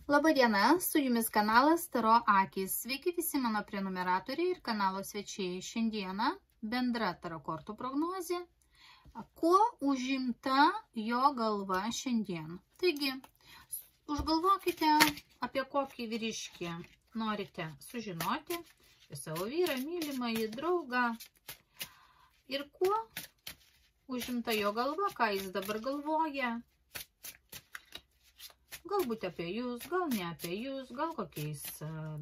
Labadiena, su jumis kanalas Taro Akys. Sveiki visi mano prenumeratoriai ir kanalo svečiai. Šiandieną bendra taro kortų prognozė. Kuo užimta jo galva šiandien? Taigi, užgalvokite, apie kokį vyriškį norite sužinoti, apie savo vyrą, mylimąjį, draugą. Ir kuo užimta jo galva, ką jis dabar galvoja. Galbūt apie jūs, gal ne apie jūs, gal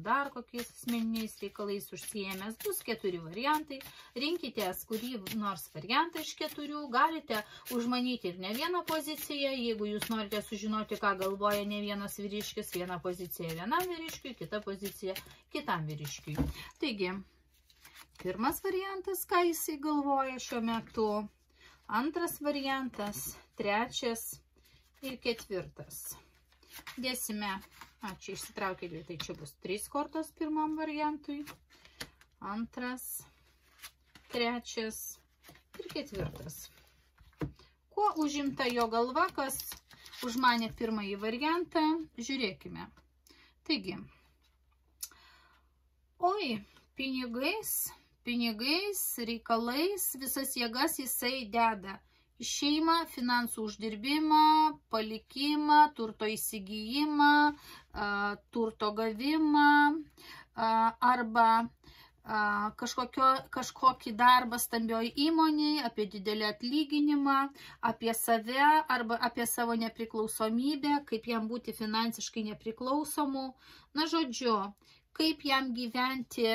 dar kokiais asmeniniais reikalais užsiėmęs. Bus 4 variantai. Rinkitės kurį nors variantą iš 4. Galite užmanyti ir ne vieną poziciją. Jeigu jūs norite sužinoti, ką galvoja ne vienas vyriškis, viena pozicija vienam vyriškiui, kita pozicija kitam vyriškiui. Taigi, pirmas variantas, ką jisai galvoja šiuo metu. Antras variantas, trečias ir ketvirtas. Dėsime, čia išsitraukė dvi, tai čia bus 3 kortos pirmam variantui, antras, trečias ir ketvirtas. Kuo užimta jo galva, kas užmanė pirmąjį variantą, žiūrėkime. Taigi, pinigais, reikalais, visas jėgas jisai deda. Šeimą, finansų uždirbimą, palikimą, turto įsigijimą, turto gavimą arba kažkokį darbą stambioj įmonėje, apie didelį atlyginimą, apie save arba apie savo nepriklausomybę, kaip jam būti finansiškai nepriklausomu. Na, žodžiu, kaip jam gyventi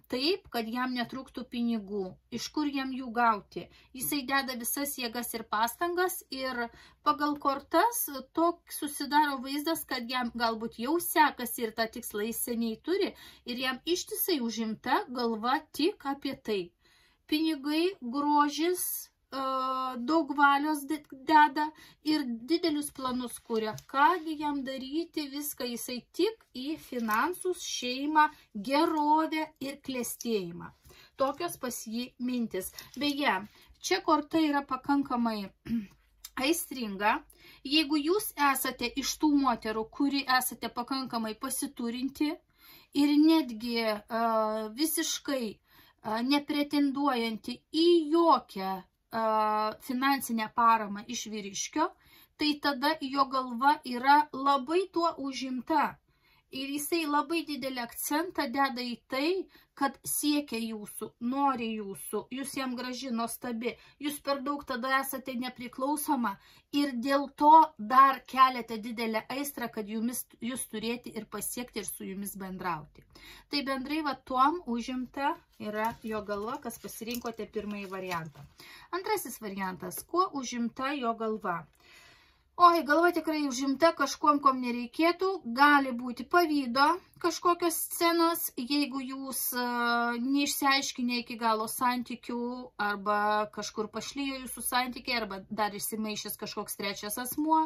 taip, kad jam netrūktų pinigų, iš kur jam jų gauti. Jisai deda visas jėgas ir pastangas ir pagal kortas toks susidaro vaizdas, kad jam galbūt jau sekasi ir tą tikslą jis seniai turi ir jam ištisai užimta galva tik apie tai. Pinigai, grožis, daug valios deda ir didelius planus kuria. Kągi jam daryti, viską jisai tik į finansus, šeimą, gerovę ir klestėjimą. Tokios pas jį mintis. Beje, čia korta yra pakankamai aistringa. Jeigu jūs esate iš tų moterų, kuri esate pakankamai pasiturinti ir netgi visiškai nepretenduojanti į jokią finansinę paramą iš vyriškio, tai tada jo galva yra labai tuo užimta. Ir jisai labai didelį akcentą deda į tai, kad siekia jūsų, nori jūsų, jūs jam graži, nuostabi, jūs per daug tada esate nepriklausoma ir dėl to dar keliate didelę aistrą, kad jūs turėti ir pasiekti ir su jumis bendrauti. Tai bendrai tuom užimta yra jo galva, kas pasirinkote pirmąjį variantą. Antrasis variantas, kuo užimta jo galva? Galva tikrai užimta kažkuom, kom nereikėtų, gali būti pavydo kažkokios scenos, jeigu jūs neišsiaiškinę iki galo santykių arba kažkur pašlijo jūsų santykiai arba dar išsimaišęs kažkoks trečias asmuo,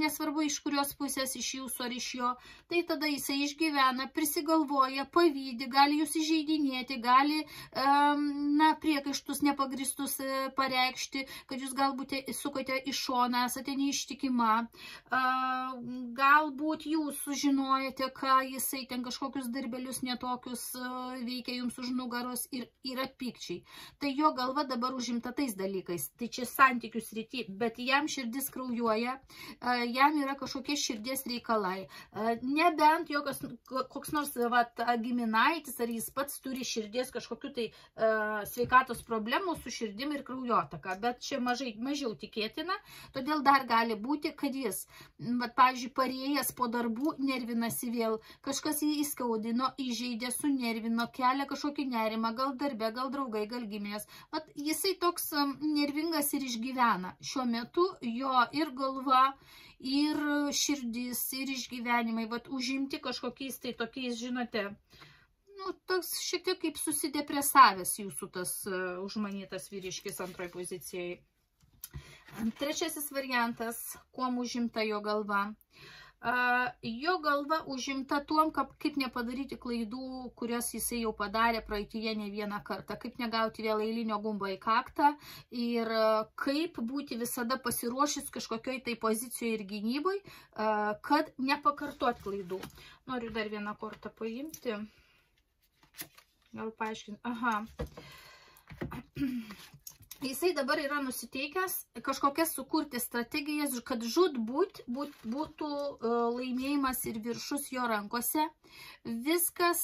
nesvarbu iš kurios pusės, iš jūsų ar iš jo, tai tada jisai išgyvena, prisigalvoja, pavydi, gali jūs įžeidinėti, gali priekaištus nepagristus pareikšti, kad jūs galbūt sukote į šoną, esate neištikima, galbūt jūs sužinojate, ką jisai ten kažkokius darbelius netokius veikia jums už nugaros ir yra pykčiai. Tai jo galva dabar užimta tais dalykais. Tai čia santykių srity, bet jam širdis kraujuoja, jam yra kažkokie širdies reikalai. Nebent koks nors giminaitis ar jis pats turi širdies kažkokių tai sveikatos problemų su širdim ir kraujotaka, bet čia mažiau tikėtina, todėl dar gali būti, kad jis, pavyzdžiui, parėjęs po darbų, nervinasi vėl, kažkas jį įskaudino, įžeidė, sunervino, kelia kažkokį nerimą, gal darbe, gal draugai, gal giminės. Jisai toks nervingas ir išgyvena. Šiuo metu jo ir galva, ir širdis, ir išgyvenimai, užimti kažkokiais tai tokiais, žinote, toks šiek tiek kaip susidepresavęs jūsų tas užmanytas vyriškis antroje pozicijoje. Trečiasis variantas, kuom užimta jo galva. Jo galva užimta tuom, kaip nepadaryti klaidų, kurias jisai jau padarė praeityje ne vieną kartą, kaip negauti vėl eilinio gumbo į kaktą ir kaip būti visada pasiruošęs kažkokioj tai pozicijoje ir gynybai, kad nepakartot klaidų. Noriu dar vieną kortą paimti. Gal paaiškinti. Aha. Jisai dabar yra nusiteikęs kažkokias sukurti strategijas, kad žūtbūt būtų laimėjimas ir viršus jo rankose. Viskas,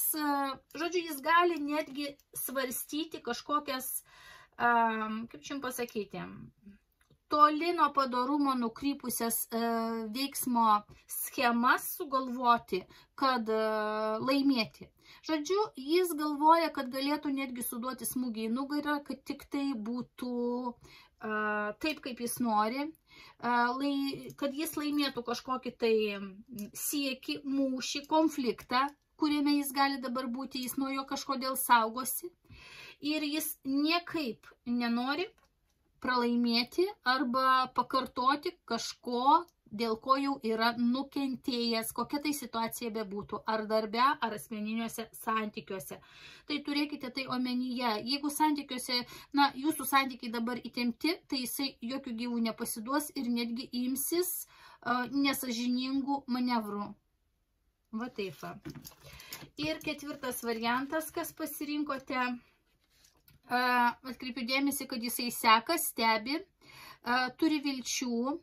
žodžiu, jis gali netgi svarstyti kažkokias, kaip čia jums pasakyti, toli nuo padorumo nukrypusias veiksmo schemas sugalvoti, kad laimėti. Žodžiu, jis galvoja, kad galėtų netgi suduoti smūgį į nugarą, kad tik tai būtų taip, kaip jis nori, kad jis laimėtų kažkokį tai siekį, mūšį, konfliktą, kuriame jis gali dabar būti, jis nuo jo kažkodėl saugosi. Ir jis niekaip nenori pralaimėti arba pakartoti kažko, dėl ko jau yra nukentėjęs, kokia tai situacija bebūtų, ar darbe, ar asmeniniuose santykiuose. Tai turėkite tai omenyje. Jeigu santykiuose, jūsų santykiai dabar įtempti, tai jisai jokių gyvų nepasiduos ir netgi imsis nesažiningų manevrų. Va taip. Ir ketvirtas variantas, kas pasirinkote, atkreipiu dėmesį, kad jisai seka, stebi, turi vilčių.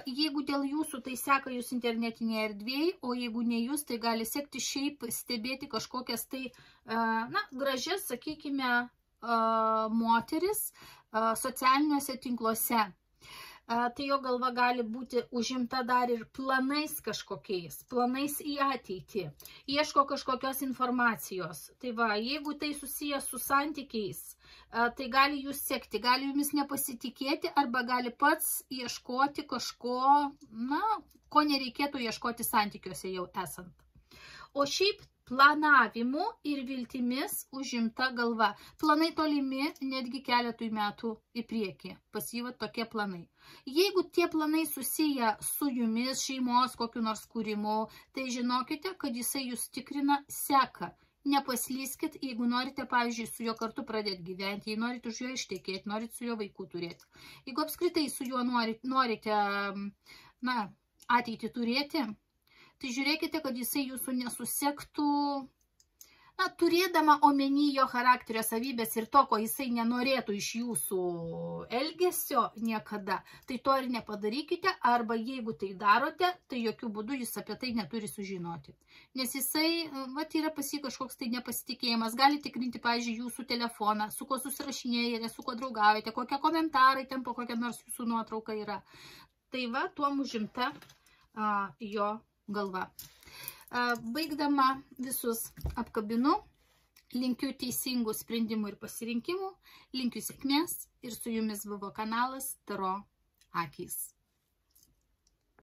Jeigu dėl jūsų, tai seka jūs internetinėje erdvėje, o jeigu ne jūs, tai gali sekti šiaip stebėti kažkokias tai, gražias, sakykime, moteris socialiniuose tinkluose. Tai jo galva gali būti užimta dar ir planais kažkokiais, planais į ateitį, ieško kažkokios informacijos. Tai va, jeigu tai susijęs su santykiais, tai gali jūs sekti, gali jumis nepasitikėti arba gali pats ieškoti kažko, ko nereikėtų ieškoti santykiuose jau esant. O šiaip planavimu ir viltimis užimta galva. Planai tolimi netgi keletui metų į priekį. Pas jį tokie planai. Jeigu tie planai susiję su jumis, šeimos kokiu nors kūrimu, tai žinokite, kad jisai jūs tikrina, seka. Nepaslyskit, jeigu norite, pavyzdžiui, su juo kartu pradėti gyventi, jei norite už jo ištekėti, norite su juo vaikų turėti. Jeigu apskritai su juo norite, ateitį turėti, tai žiūrėkite, kad jisai jūsų nesusektų, turėdama omeny jo charakterio savybės ir to, ko jisai nenorėtų iš jūsų elgesio niekada, tai to ir nepadarykite, arba jeigu tai darote, tai jokių būdų jis apie tai neturi sužinoti. Nes jisai, yra pas jį kažkoks tai nepasitikėjimas, gali tikrinti, pavyzdžiui, jūsų telefoną, su kuo susirašinėjate, su kuo draugaujate, kokie komentarai ten po kokia nors jūsų nuotrauka yra. Tai va, tuom užimta jo galva. Baigdama visus apkabinu, linkiu teisingų sprendimų ir pasirinkimų, linkiu sėkmės ir su jumis buvo kanalas Taro akys.